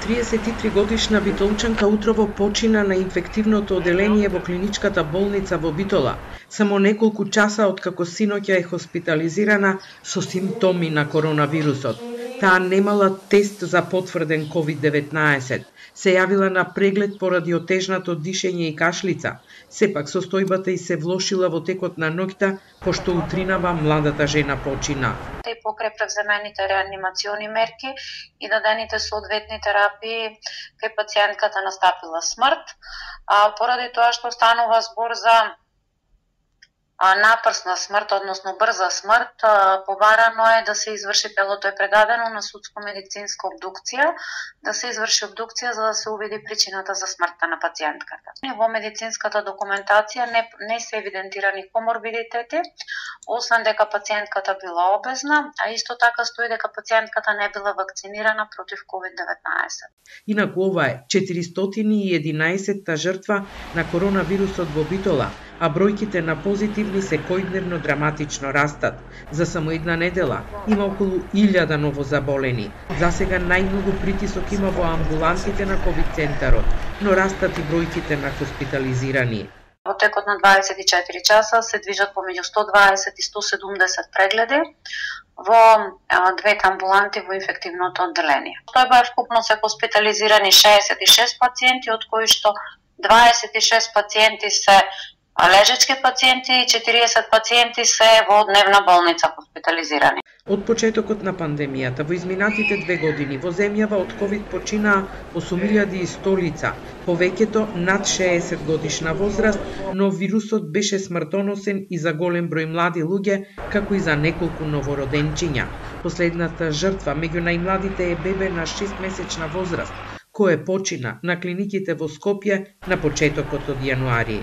33-годишна битолчанка утрово почина на инфективното оделение во клиничката болница во Битола, само неколку часа откако синоќа е хоспитализирана со симптоми на коронавирусот. Таа немала тест за потврден COVID-19, се јавила на преглед поради отежнато дишење и кашлица. Сепак состојбата й се влошила во текот на ноќта, пошто утринава младата жена почина. И покрај превземените реанимациони мерки и дадените соодветни терапии, кај пациентката настапила смрт, поради тоа што станува збор за напрсна смрт, односно брза смрт, побарано е да се изврши, телото е предадено на судско-медицинска обдукција, да се изврши обдукција за да се увиди причината за смртта на пациентката. Во медицинската документација не се евидентирани коморбидитети, освен дека пациентката била обезна, а исто така стои дека пациентката не била вакцинирана против COVID-19. Инаку ова е 411-та жртва на коронавирусот во Битола, а бројките на позитивни секојдневно драматично растат. За само една недела има околу 1000 новозаболени. За сега најмногу притисок има во амбулантите на ковид центарот, но растат и бројките на хоспитализирани. Во текот на 24 часа се движат помеѓу 120 и 170 прегледи во двете амбуланти во инфективното одделение. Тој вкупно се хоспитализирани 66 пациенти, од кои што 26 пациенти се лежачки пациенти и 40 пациенти се во дневна болница хоспитализирани. Од почетокот на пандемијата во изминатите 2 години во земјава од ковид починаа 8100 лица, повеќето над 60 годишна возраст, но вирусот беше смртоносен и за голем број млади луѓе, како и за неколку новороденчиња. Последната жртва меѓу најмладите е бебе на 6-месечна возраст, кој почина на клиниките во Скопје на почетокот од јануари.